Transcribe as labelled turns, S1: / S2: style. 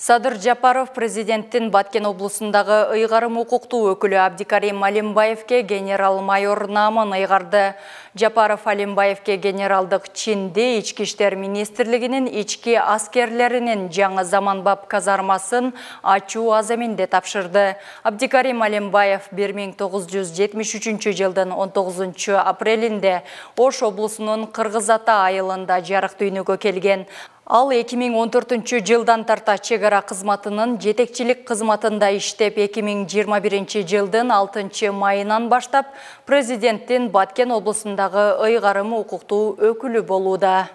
S1: Садыр Жапаров президенттин Баткен облусундагы ыйгарым укуктуу өкүлү Абдикарим Алимбаевке генерал-майор наамын ыйгарды. Жапаров Алимбаевке генералдык чинде Ички иштер министрлигинин ички аскерлеринин жаңы заманбап казармасын ачуу аземинде тапшырды. Абдикарим Алимбаев 1973 жылдын 19 апрелинде Ош облусунун Кыргыз Ата айылында жарык дүйнөгө келген. Ал 2014 жылдан тарта чегара кызматынын жетекчилик кызматында иштеп, 2021 жылдын 6 майынан баштап президенттин Баткен облусундагы ыйгарым укуктуу өкүлү болууда.